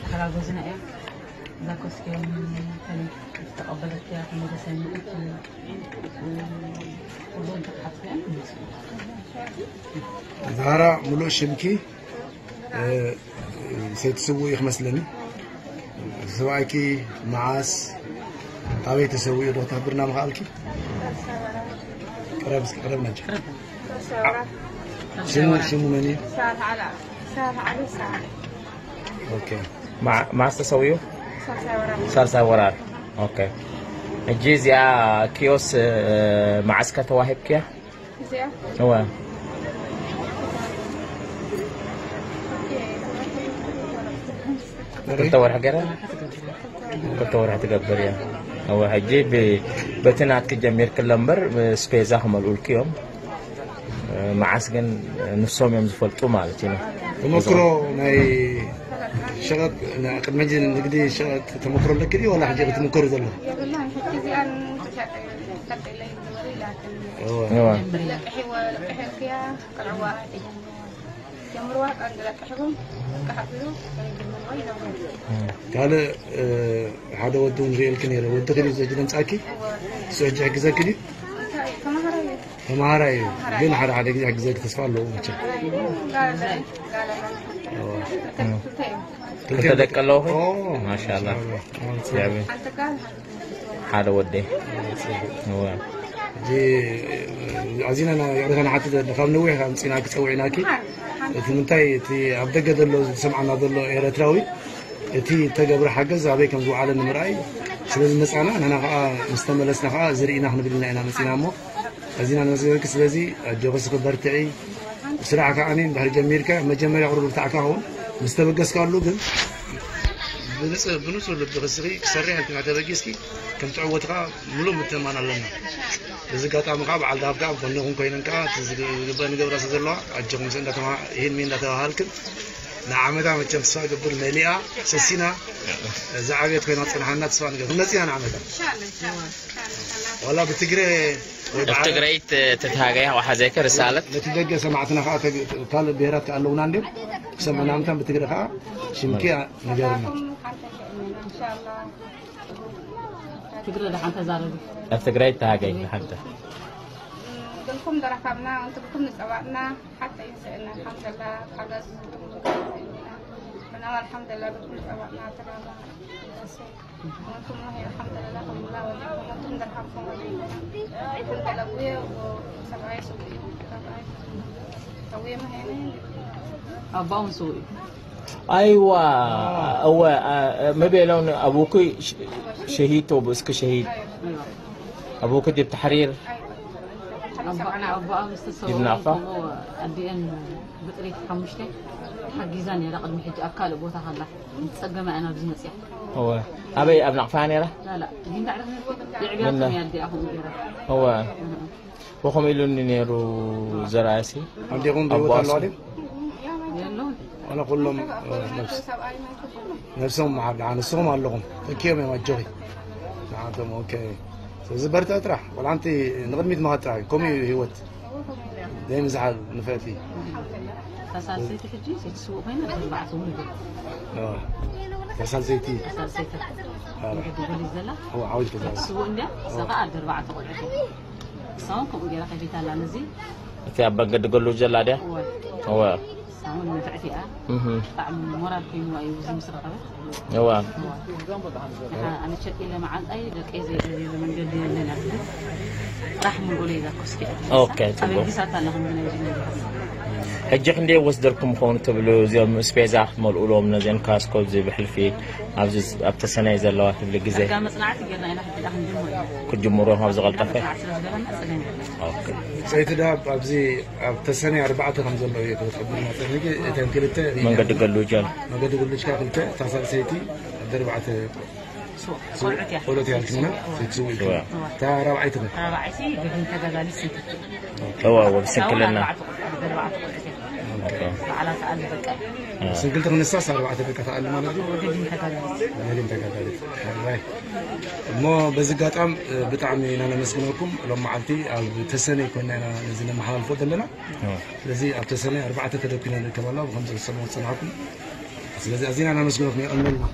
ተሓጋገዝና እዮም። እዛ ኮስኪ እውን ዝተቐበለት እያ፣ ተመለሰኒ። እቲ ኩሉ እንተተሓትነ እዮም። ዛህራ፣ ሙሉእ ሽምኪ፣ እ፣ ሰይቲ ስውእ እዩ ክመስለኒ። ሰብኣይኪ መዓስ፣ ኣበይ ተሰዊኡ ዶ ክትሕብርና ምኽኣልኪ? ቅረብ እስኪ፣ ቅረብ ናቸው። ሽሙ፣ ሽሙ መን እዩ? ሳልሕ ዓላ፣ ሳልሕ ዓሊ ሳልሕ። ኦኬ። ማ-፣ መዓስ ተሰዊኡ? ሳልሳይ ወራር። ሳልሳይ ወራር። ኦኬ። ሕጂ እዚኣ ኪዮስ፣ እ፣ መዓስ ከተዋሂብክያ? እዚኣ? እወ። ክልተ ወርሒ ገይራ? ክልተ ወርሒ ትገብር እያ። እወ፣ ሕጂ ብ-፣ በቲ ናትኪ ጀሚርክለ እምበር፣ ስፔዛ ክመልኡልኪ እዮም። መዓስ ግን ንሶም እዮም ዝፈልጡ ማለት እዩ። ተመክሮ ናይ ሸቐጥ፣ ናይ ቅድሚ ሕጂ ንግዲ ሸቐጥ ተመክሮ ኣለኪ ድዩ፣ ዋላ ሕጂ ክትምከሩ ዘለኹ? የብላን፣ ሕጂ እዚኣ ንሸጥ፣ ቀጥ ኢለ ይግበሩ ኢላትኒ። እወ። እወ። ለቅሒዎ፣ ለቅሒልክያ፣ ቅርዕዋ፣ ጀምርዋ፣ ቀንዲ ለቅሕኩም፣ ለቅሕ ኣቢሉ፣ ጀምርዋ ይነብሩ። ካልእ፣ እ፣ ሓደ ወዲ እውን ርእየልኪ ነይረ። ወዲ ኺድ እዩ ዘጅ ደምጻኪ? እሱ ሕጂ ሕግዘኪ ድዩ? እንታይ፣ ተማሃራይ እዩ። ተማሃራይ እዩ። ግን ሓደ ሓደ ግዜ ሕግዘኪ ተስፋ ኣለዎ መቸም። ክልተ ደቂ ኣለዎ ኾይ? ኦ፣ ማሻኣላ። ማሻኣላ። ሓደ ወደይ። እወ። ሕጂ ኣዚና ኢና ይቕሬታ ንሓትት ዘለና። ካብ ነዊሕ ካብ ምጺና ክጸውዕናኪ። እቲ ምንታይ፣ እቲ ኣብ ደገ ዘሎ ዝሰምዓና ዘሎ ኤረትራዊ፣ እቲ እተገብረ ሓገዝ ኣበይ ከም ዝወዓለ ንምርኣይ ስለ ዝመጻና፣ ንሕና ከኣ ምስ ተመለስና ከኣ እዚ ርኢና ክንብል ኢልና ኢና መጺና እሞ፣ ኣዚና ነመስግነኪ። ስለዚ ኣጆኺ እስኺ በርትዒ። ስራሕ ከኣ እንድሕር ጀሚርካ መጀመርያ ቁሩብ ርታዕካ ኸውን ምስ ተበገስካሉ ግን ብንጽ-፣ ብንጹር ልቢ እስኺ ክሰርሕ ኢልኪ ተበጊስኪ ከም ትዕወቲ ከኣ ምሉእ ምትእምማን ኣለና። በዚ ኣጋጣሚ ከኣ በዓል ደሃብ ከኣ ኣብ ጎንኹም ኮይነን ከኣ እቲ ዝግ-፣ ዝግበእ ንገብራ ስለ ዘለዋ ኣጆኹም ስእ እንዳተማ-፣ ይህን ሚን እንዳተባሃልክን ንዓመታ መቸም ተስፋ እገብር መሊኣ ሰሲና ዝዓብየት ኮይና ክጸንሓና ተስፋ ንገብር። ክንመጽእ ኢና ንዓመታ። ኢንሻኣላ፣ ኢንሻኣላ፣ ኢንሻኣላ። ዋላ ብትግረ ወይ ኣብ ብዓረብ ትግራይ ተ-፣ ተተሃገያ ወሓዘይከ ርሳለት? ነቲ ደገ ሰማዕትና ከኣ ተግ-፣ ካልእ ብሄራት ከኣ ኣለውና እንድዮም። ክሰምዑና ምእንታን ብትግረ ከኣ ሽምኪ ንገርና። ኢንሻኣላ። ትግረ ደሓን ተዛረቢ። ኣብ ትግራይ ተሃገይ ደሓን ተ- ግልኩም ተራኸብና፣ እንትልኩም ንጸዋዕና፣ ሓተ ይንስእና፣ ኣልሓምዱሊላህ፣ ሓገዝ ዝግብሩ ዝግብሩ ኢና። ብናም ኣልሓምዱሊላህ፣ ብልኩም ንጸዋዕና፣ ተጋባ፣ ደሴ። ወንቱም ላህ፣ ኣልሓምዱሊላህ፣ ከምላ ወሊኩም፣ ወንቱም ደርሃብኩም ወሊኩም። ኣልሓምዱሊላህ፣ ውየ፣ ወ-፣ ሰብኣይ፣ ሰብኣይ፣ ሰብኣይ፣ ሰብኣይ፣ መሄነ። ኣባውን ሰብኣይ። ኣይዋ፣ እወ፣ አ-፣ መቤለውን ኣቡኪ ሽ-፣ ሸሂድ ቶ ብእስኪ ሸሂድ። ኣቡኪ ዲብ ተሕሪር። ኣቦኣ፣ ኣቦኣ ምስ ተሰወሩ ይድናፋ። ከምኡ ኣዲአን ብጥሪት ሓሙሽተ ሓጊዛ ነይራ። ቅድሚ ሕጂ ኣብ ካልእ ቦታ ከላ፣ ምስ ጸገማ እያ ናብዚ መጽያ። እወ። ኣበይ፣ ኣብ ናቕፋ ነይራ? ላላ፣ ጊንዳዕ የዕብያቶም እያ ኣዲኣ ከምኡ ገይራ። እወ። እህ። ወኸም ኢሉኒ ነይሩ ዘርኣሲ። ኣዴኹም ብህይወት ኣለዋ ኣቦኣሱ። ድዩ? የለውን። ዋላ ኩሎም፣ እ፣ ነብስ-፣ ነብሶም መሓር ደሓን ንስኹም ኣለኹም። ተኪኦም እዮም ኣጆኺ። ንዓቶም፣ ኦኬ። ስለዚ በርትዕ ጥራሕ። ቆልዓ ኣንቲ ንቕድሚት ምኻድ ጥራሕ እዩ። ከምኡ እዩ ህይወት። ዘይምዝሓል ንፍዕቲ። እታ ሳልሰይቲ ሕጂ ሰይቲ ስውእ ኮይና፣ ኣርባዕተ ውሉድ። እ፣ እታ ሳልሰይቲ። እታ ሳልሰይቲ። እ። መገዲ ገሊዝ ዘላ። እወ፣ ዓወት ሰይቲ ተዛዝ። ስውእ እንድያ፣ እዛ ኸዓ ኣደ ኣርባዕተ ቆልዑት እያ። እሳ እውን ከምኡ ገይራ ከፊታ ኣላ ነዚ። እቲ ኣብ መንገዲ ገሉ ዘላ ድያ? እወ። እወ። እሳ እውን ንፍዕቲ እያ። እህ። ብጣዕሚ ሞራል ኮይንዋ እዩ እዚ ምስ ረኸበት። እወ። እወ። ንዓ ኣነ ቸክ ኢለ መዓንጣይ ደቀይ ዘይገዝየሉ መንገዲ የለን እያ ትብል። ጥራሕ ምልኡለይ እዛ ኮስኪ እያ ትብል። ኦኬ፣ ኣብ ጽቡቕ። ኣጊሳታ ኣላ ከምዚ ናይ እዚ ነገር። ሕጂ ክንደይ ወስደልኩም ይኸውን ትብሉ እዚኦም ስፔዛ ክትመልኡሎም ነዚኦም ካስኮ እዚ ብሕልፊ ኣብዚ ኣብ ተሰነይ ዘለዋ ትብሊ ግዜ? ዳርጋ መጽናዕቲ ጌርና ኢና ሕጂ ደኣ ክንጅምር ኢና። ክትጅምሩ ኢኹም ኣብ ዝቐልጠፈ? መጽናዕቲ ስለ ዝገበርና ጸገም የለን። ኦኬ። ሰይቲ ደሃብ ኣብዚ ኣብ ተሰነይ ኣርባዕተ ከም ዘሎ እዩ ክትሕብርና ጸኒሕኪ። እተን ክልተ መንገዲ ገሉጀን። መንገዲ ጉልጅካ ክልተ፣ እታ ሳልሰይቲ ኣደ ኣርባዕተ ስዋ-፣ ቆልዑት እያ። ቆልዑት እያ ልክና፣ ሰይቲ ስዋ። ሰይቲ ስዋ። እዋ። እታ ራብዓይቲ ኸ? ራብዓይቲ ገዲም ተጋዳሊት ሰይቲ። እዋ፣ እዋ፣ ብስንክልና። ኣርባዕተ ቆልዑት፣ ኣደ ኣርባዕተ ቆልዑት እያ። ኦኬ። ባዕላ ትኣሊ በቃ። እ። ስንክልቲ ክንሳስ ኣርባዕተ ደቂ ትኣሊ ማለት እዩ? ገዲም ተጋዳሊት። ገዲም ተጋዳሊት። ኦራይት። እሞ በዚ ኣጋጣም፣ እ፣ ብጣዕሚ ኢና ነመስግነኩም። ሎም መዓልቲ ኣብ ተሰነይ ኮይና ኢና ነዚ ነመሓላልፎ ዘለና። እ። ስለዚ ኣብ ተሰነይ ኣርባዕተ ተደኲና ንርከብ ኣላ፣ ብኸምዚ ክትሰምዑ ዝጸናሕኩም። ስለዚ ኣዚና ነመስግኖት፣ የቐንልና።